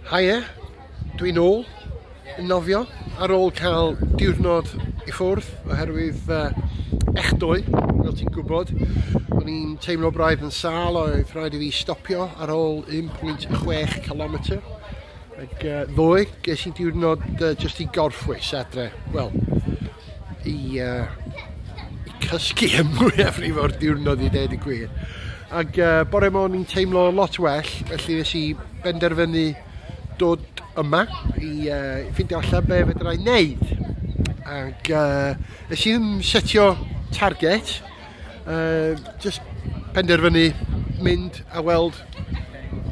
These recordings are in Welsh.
Haia, dwi'n ôl yn nofio ar ôl cael diwrnod i ffwrdd oherwydd echdoe, fel ti'n gwybod. O'n i'n teimlo braidd yn sâl, oedd rhaid i fi stopio ar ôl 1.6 km. Ac ddoe, ges i diwrnod jyst i gorffwys adre. Wel, i cysgu y mwyafrif o'r diwrnod i ddeud y gwir. Ac bore 'ma o'n i'n teimlo lot well, felly nes i benderfynu dod yma i ffeindio allan be fedra i wneud. Ac nes i ddim setio target, just penderfynu mynd a weld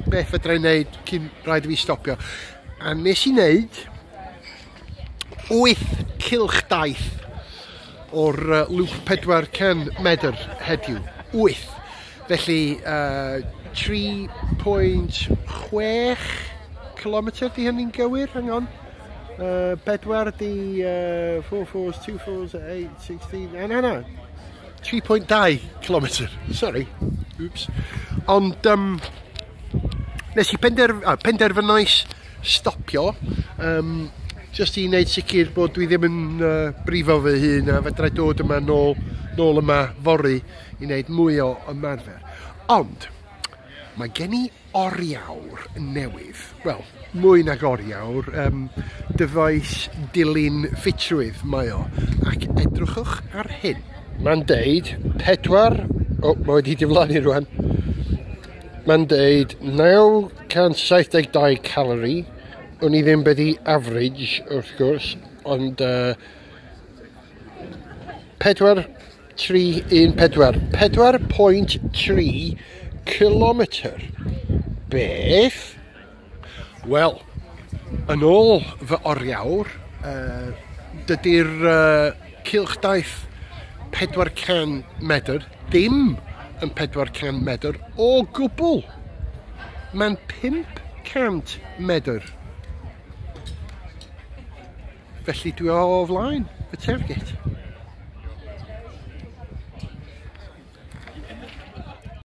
beth fedra i wneud cyn rhaid i fi stopio. A nes i wneud 8 cylch daith o'r loop 400 medr heddiw. 8. Felly 3.6 km di hynny'n gywir? Hang on. 4 di 4 4s, 2 4s, 8, 16, na na na. 3.2 km, sorry. Oops. Ond nes i penderfynais stopio, just i wneud sicr bod dwi ddim yn brifo fy hun a fedrai dod yma nôl yma fory i wneud mwy o ymarfer. Ond mae gen i oriawr newydd. Wel, mwy nag oriawr, dyfais dilyn ffitrwydd mae o. Ac edrychwch ar hyn. Mae'n deud 4, o, mae wedi diflannu rwan. Mae'n deud 972 calorie. O'n i ddim beth i average, wrth gwrs, ond 4, 3, 1, 4. 4.3 kilometr. Beth? Wel, yn ôl fy oriawr, dydy'r cylchdaith 400 medr ddim yn 400 medr o gwbl. Mae'n 500 medr. Felly dwi o flaen y target.